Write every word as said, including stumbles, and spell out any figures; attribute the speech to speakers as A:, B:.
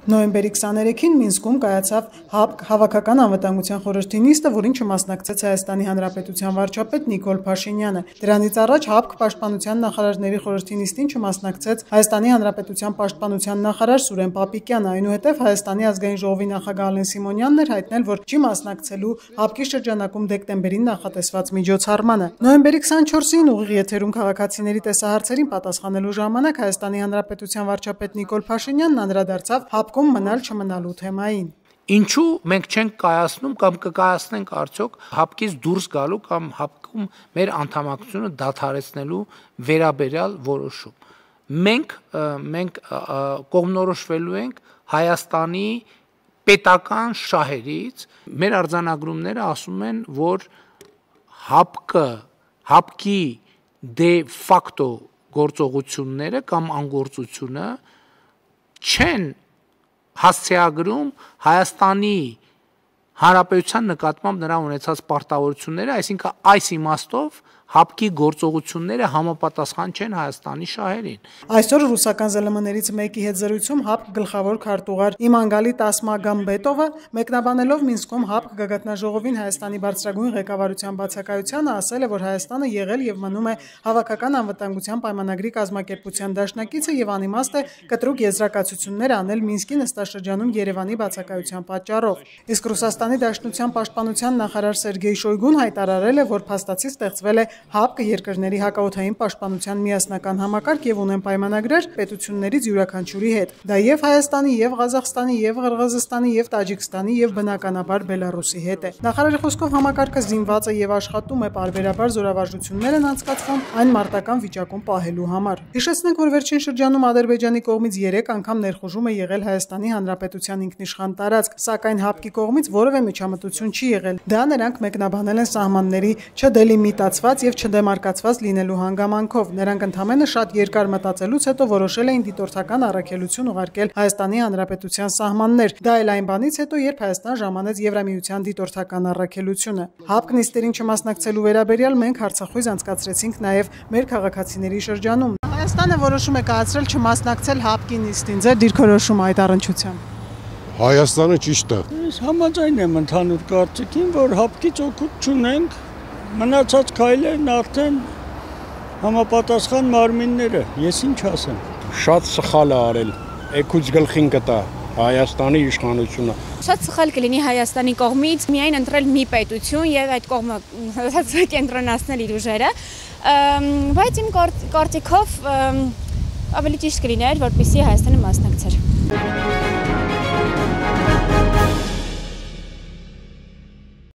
A: Նոյեմբերի քսաներեքին Մինսկում կայացավ ՀԱՊԿ Հավաքական անվտանգության խորհրդի նիստը, որին չմասնակցեց Հայաստանի Հանրապետության վարչապետ Նիկոլ Փաշինյանը։ Դրանից առաջ ՀԱՊԿ Պաշտպանության նախարարների խորհրդի նիստին չմասնակցեց Հայաստանի Հանրապետության պաշտպանության նախարար Սուրեն Պապիկյանը, այնուհետև Հայաստանի ազգային ժողովի նախագահ Ալեն Սիմոնյանն էր հայտնել, որ չի մասնակցելու ՀԱՊԿ-ի շրջանակում դեկտեմբերին նախատեսված միջոցառմանը։ Նոյեմբերի քսանչորսին ուղիղ եթերում քաղաքացիների տեսահարցերին պատասխանելու ժամանակ Հայաստանի Հանրապետության վարչապետ Նիկոլ Փաշինյանն անդրադարձավ ՀԱՊԿ-ում մնալ չմնալու թեմային։
B: Ինչու մենք չենք կայացնում կամ կկայացնենք արդյոք ՀԱՊԿ-ից դուրս գալու կամ ՀԱՊԿ-ում մեր անդամակցությունը դադարեցնելու վերաբերյալ որոշում։ Մենք մենք կողմնորոշվելու ենք Հայաստանի պետական շահերից, մեր արձանագրումները ասում են, որ ՀԱՊԿ, ՀԱՊԿ-ի դե ֆակտո գործողությունները կամ անգործությունը չեն հասցեագրում Հայաստանի Հանրապետության նկատմամբ նրա ունեցած պարտավորությունները, այսինքն այս իմաստով ՀԱՊԿ-ի գործողությունները համապատասխան չեն Հայաստանի շահերին։
A: Այսօր ռուսական ԶԼՄ-ներից մեկի հետ զրույցում ՀԱՊԿ գլխավոր քարտուղար Իմանգալի Տասմագամբետովը մեկնաբանելով Մինսկում ՀԱՊԿ գագաթնաժողովին Հայաստանի բարձրագույն ղեկավարության բացակայությանը ասել է, որ Հայաստանը եղել եւ մնում է Հավաքական անվտանգության պայմանագրի կազմակերպության դաշնակիցը եւ անիմաստ է կտրուկ եզրակացություններ անել Մինսկի նստաշրջանում Երևանի բացակայության պատճառով։ Իսկ Ռուսաստանի Դաշնության պաշտպանության նախարար Սերգեյ Շոյգուն հայտարարել է, որ փաստացի ստեղծվել է ՀԱՊԿ երկրների հակաօդային պաշտպանության միասնական համակարգ եւ ունեն պայմանագրեր պետություններից յուրաքանչյուրի հետ։ Դա եւ Հայաստանի, եւ Ղազախստանի, եւ Ղրղըզստանի, եւ Տաջիկստանի, եւ բնականաբար Բելարուսի հետ է։ Նախարարի խոսքով համակարգը զինված է եւ աշխատում է, պարբերաբար զորավարժություններ են անցկացվում այն մարտական վիճակում պահելու համար։ Հիշեցնենք, որ վերջին շրջանում Ադրբեջանի կողմից երեք անգամ ներխուժում է եղել Հայաստանի Հանրապետության ինքնիշխան տարածք, սակայն ՀԱՊԿ-ի կողմից որևէ միջամտություն չի եղել։ Դա նրանք մեկնաբանել են սահմանների չդելիմիտացված եւ չդեմարկացված լինելու հանգամանքով։ Նրանք ընդամենը շատ երկար մտածելուց հետո որոշել էին դիտորդական առաքելություն ուղարկել Հայաստանի Հանրապետության սահմաններ։ Դա էլ այն բանից հետո, երբ Հայաստան ժամանեց Եվրամիության դիտորդական առաքելությունը։ ՀԱՊԿ նիստերին չմասնակցելու վերաբերյալ մենք հարցախույզ անցկացրեցինք նաեւ մեր քաղաքացիների շրջանում։ Հայաստանը որոշում է կայացրել չմասնակցել ՀԱՊԿ-ի նիստին։ Ձեր դիրքորոշումը այդ առնչությամբ։
C: Հայաստանը ճիշտ է։
D: Ես համաձայն եմ ընդհանուր կարծիքին, որ ՀԱՊԿ-ից օգուտ չունենք, մնացած քայլերն արդեն համապատասխան մարմինները, ես ինչ ասեմ։
C: Շատ սխալ է արել, էկուց գլխին կտա Հայաստանի իշխանությունը։
E: Շատ սխալ կլինի Հայաստանի կողմից միայն ընտրել մի պետություն եւ այդ կողմը կենտրոնացնել իր ուժերը, բայց իմ կարծիքով ավելի ճիշտ կլիներ, որպեսզի Հայաստանը մասնակցեր։